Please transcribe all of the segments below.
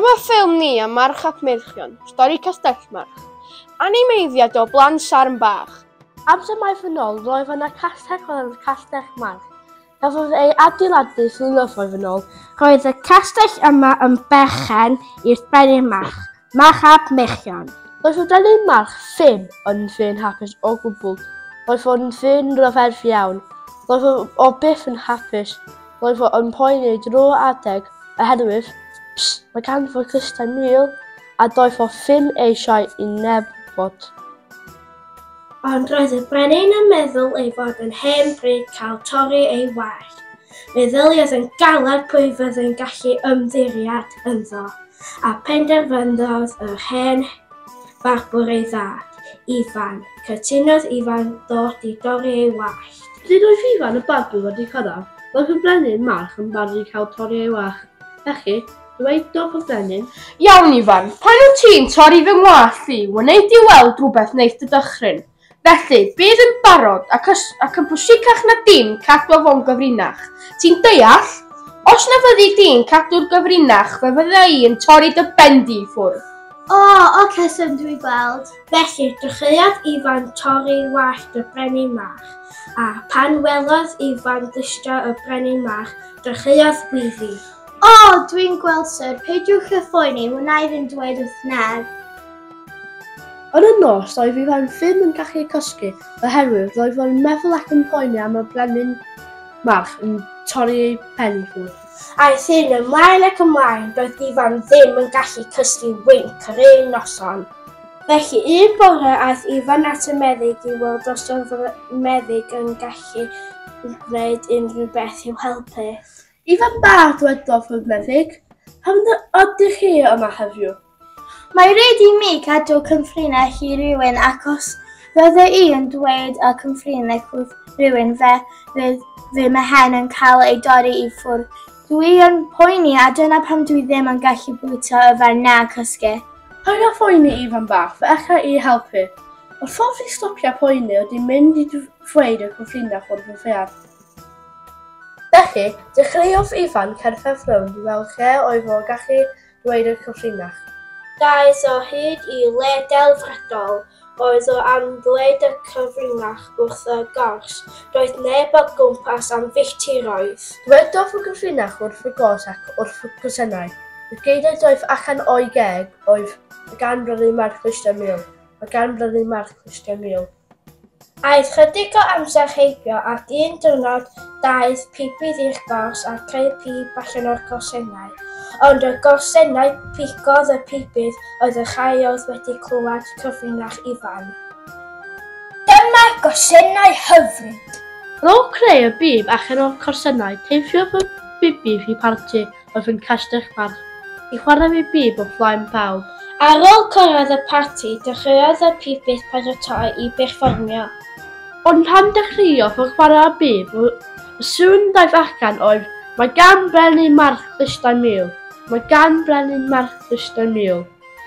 Dyma ffilm ni am March ap Meirchion, stori Castellmarch. Animeiddiad o blant sarn bach. Amser maith yn ôl, roedd yna castell o'r enw Castell March. Cafodd ei adeiladu flynyddoedd yn ôl. Roedd y castell yma yn berchen i'r Brenin March, March ap Meirchion. Roedd y Brenin March ddim yn ddyn hapus o gwbl. Roedd o'n ddyn rhyfedd iawn. Roedd o byth yn hapus. Roedd o yn poeni drwy'r adeg oherwydd, psst, mae ganddo clustau mul a doedd o ddim eisiau i neb wybod. Ond roedd y brenin yn meddwl ei fod yn hen bryd cael torri ei wallt. Meddyliodd yn galed pwy fyddai'n gallu ymddiried ynddo, a phenderfynodd yr hen farbwr ei ddad, Ifan. Cytunodd Ifan ddod i dorri ei wallt. Pryd oedd Ifan y barbwr wedi cyrraedd, roedd y brenin March yn barod i cael torri ei wallt. Felly, dywedodd y brenin, Iawn Ifan, pan wyt ti'n torri fy ngwallt i, wnei di weld rhywbeth wneith dy dychryn. Felly, bydd yn barod ac, os, ac yn pwysicach na dim cadw fo'n gyfrinach. Ti'n deall? Os na fyddi di'n cadw'r gyfrinach, fe fydda i yn torri dy ben di i ffwrdd. O, oce, syr, dwi'n gweld. Felly, dechreuodd Ifan torri wallt y brenin March, a phan welodd Ifan ddistro y brenin March, dechreuodd weiddi. O, dwi'n gweld, syr, peidiwch â phoeni, wna i ddim dweud wrth neb. Yn y nos, doedd Ifan ddim yn gallu cysgu oherwydd roedd o'n meddwl ac yn poeni am y brenin March yn torri ei pen i ffwrdd. Aeth hyn ymlaen ac ymlaen, doedd Ifan ddim yn gallu cysgu winc yr un noson. Felly un bore aeth Ifan at y meddyg i weld os oedd y meddyg yn gallu gwneud unrhyw beth i'w helpu. Ifan bach, dwedodd y meddyg, pam ydych chi yma heddiw? Mae rhaid i mi cadw cyfrinach i rywun ac os fydda i yn dweud y cyfrinach wrth rywun fe fydd fy mhen yn cael ei dorri i ffwrdd. Dwi yn poeni a dyna pam dwi ddim yn gallu bwyta, yfed na cysgu. Paid â phoeni Ifan bach, fe alla i helpu. Y ffordd i stopio poeni ydy mynd i ddweud y cyfrinach wrth y ddaear. Felly, dechreuodd Ifan cerdded rownd i weld lle oedd o'n gallu dweud y cyfrinach. Daeth o hyd i le delfrydol. Roedd o am ddweud y cyfrinach wrth y gors. Doedd neb o gwmpas am filltiroedd. Dwedodd y cyfrinach wrth y gors ac wrth y coesennau. Y geiriau doedd allan o'i geg oedd, Mae gan Brenin March clustiau mul. Mae gan Brenin March clustiau mul. Aeth chydig o amser heibio ac un diwrnod daeth pibydd i'r gors a creu pib allan o'r gorsennau. Ond y gorsennau pigodd y pibydd oedd y rhai oedd wedi clywed cyfrinach Ifan. Dyma gorsennau hyfryd! Ar ôl creu y bib allan o'r corsennau, teithiodd y bibydd i parti oedd yn Castell March i chwarae ei bib o flaen pawb. Ar ôl cyrraedd y parti, dechreuodd y pibydd paratoi i berfformio. Ond pan dechreuodd o chwarae'r bib, y sŵn daeth allan oedd, Mae gan Brenin March glustau mul! Mae gan Brenin March glustau mul!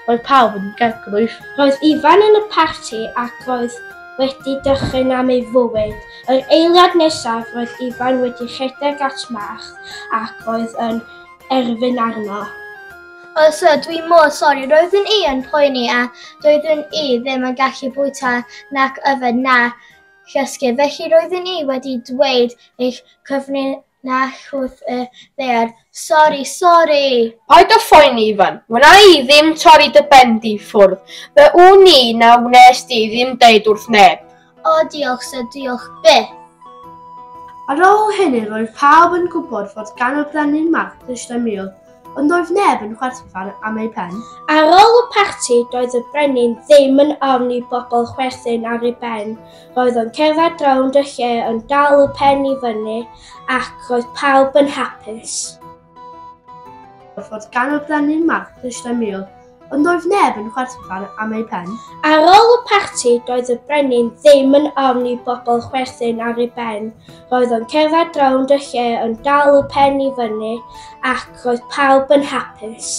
Roedd pawb yn gegrwyth. Roedd Ifan yn y parti ac roedd wedi dychryn am ei fywyd. Yr eiliad nesaf roedd Ifan wedi rhedeg at March ac roedd yn erfyn arno. O syr, dwi mor sori, roeddwn i yn poeni a doeddwn i ddim yn gallu bwyta nac yfed na chysgu, felly roeddwn i wedi dweud eich cyfrinach wrth y ddaear. Sori, sori! Paid â phoeni Ifan, wna i ddim torri dy ben di i ffwrdd. Fe wn i na wnes di ddim deud wrth neb. O diolch syr, diolch byth! Ar ôl hynny roedd pawb yn gwybod fod gan y Brenin March glustau mul, ond doedd neb yn chwerthin am ei pen. Ar ôl y parti, doedd y brenin ddim yn ofn i bobl chwerthin ar ei ben. Roedd o'n cerdded rownd y lle yn dal y pen i fyny ac roedd pawb yn hapus. Fod gan y Brenin March glustau mul, ond doedd neb yn chwerthin am ei pen. Ar ôl y parti, doedd y brenin ddim yn ofn i bobl chwerthin ar ei ben. Roedd o'n cerdded rownd y lle yn dal y pen i fyny ac roedd pawb yn hapus.